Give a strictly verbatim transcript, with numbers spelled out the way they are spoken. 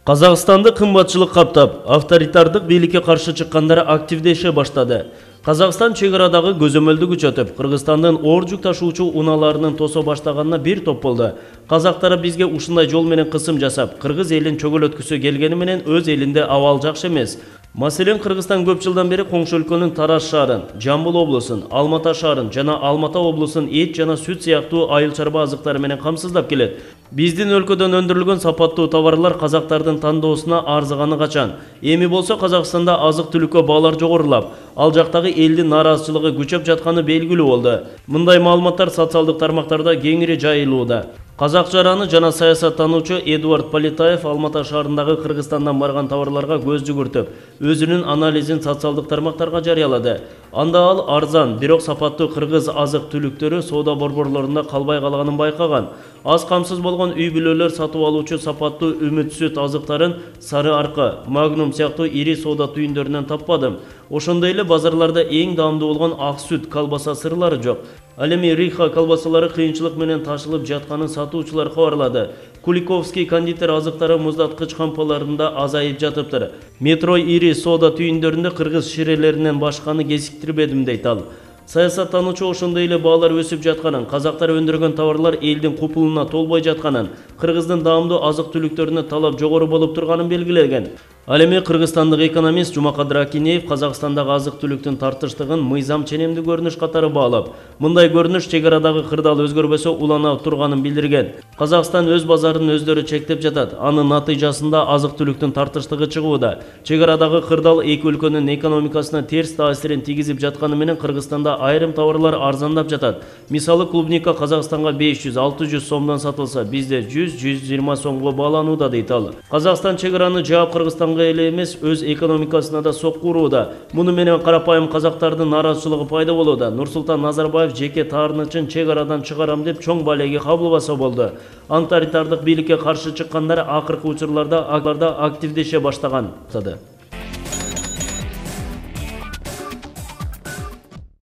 Казакстанды кымбатчылык каптап, авторитардык бийликке каршы чыккандар активдеше баштады. Казакстан чек арадагы көзөмөлдү күчөтүп, Кыргызстандын оор жүк ташуучу унааларынын тосо баштаганына бир топ болду. Казактар бизге ушундай жол менен кысым жасап, кыргыз элин чөгөлөткүсү келгени менен өз элинде абал жакшы эмес. Маселен, Кыргызстан көп жылдан бери коңшу өлкөнүн Тараз шаарын, Жамбыл облусун, Алмата шаарын жана Алмата облусун эт жана сүт сыяктуу айыл чарба азыктары менен камсыздап келет. Биздин өлкөдөн өндүрүлгөн сапаттуу товарлар казактардын тандоосуна арзыганы качан. Эми болсо Казакстанда азык-түлүккө баалар жогорулап, ал жактагы элдин нааразычылыгы күчөп жатканы белгилүү болду. Мындай маалыматтар социалдык тармактарда кеңири жайылууда. Казак жараны жана саясаттануучу Эдуард Политаев Алмата шаарындагы Кыргызстандан барган товарларга көз жүгүртүп, өзүнүн анализин социалдык тармактарга жарыялады. Анда ал арзан, бирок сапаттуу кыргыз азык-түлүктөрү соода борборлорунда калбай калганын байкаган. Аз камсыз болгон үй бүлөлөр сатып алуучу сапаттуу үмүт сүт азыктарын Сары Аркы, Магнум сыяктуу ири соода түйүндөрүнөн таппадым. Ошондой эле базарларда эң даамдуу болгон ак сүт, колбаса сырлары жок. Ал эми Риха колбасалары кыйынчылык менен ташылып жатканын сатуучулар кабарлады. Куликовский кондитер азыктары муздаткыч кампаларында азайып жатыптыр. Метро ири соода түйүндөрүндө кыргыз ширелеринен башканы кезиктирбедим дейт ал. Саясаттануучу ошондой эле баалар өсүп жатканын, казактар өндүргөн товарлар элдин купулуна толбой жатканын, кыргыздын даамдуу азык-түлүктөрүнө талап жогору болуп турганын белгилеген. Ал эми кыргызстандык экономист Жумакадыр Акинеев Казакстандагы азык-түлүктүн тартыштыгын мыйзам ченемдүү көрүнүш катары баалап, мындай көрүнүш чек арадагы кырдаал өзгөрбөсө улана турганын билдирген. Казакстан өз базарын өздөрү чектеп жатат. Анын натыйжасында азык-түлүктүн тартыштыгы чыгууда. Чек арадагы кырдаал эки өлкөнүн экономикасына терс таасирин тийгизип жатканы менен Кыргызстанда айрым товарлар арзандап жатат. Мисалы, клубника Казакстанга беш жүз алты жүз сомдон сатылса, бизде жүз жүз жыйырма сомго бааланууда дейт ал. Казакстан чек араны жаап Кыргызстанга эле эмес, өз экономикасына да сокку урууда. Муну менен карапайым казактардын нааразычылыгы пайда болууда. Нурсултан Назарбаев жеке таарынычын чек арадан чыгарам деп чоң балеге кабылбаса болду. Антаритардык бийликке каршы чыккандар акыркы учурларда активдеше баштаган.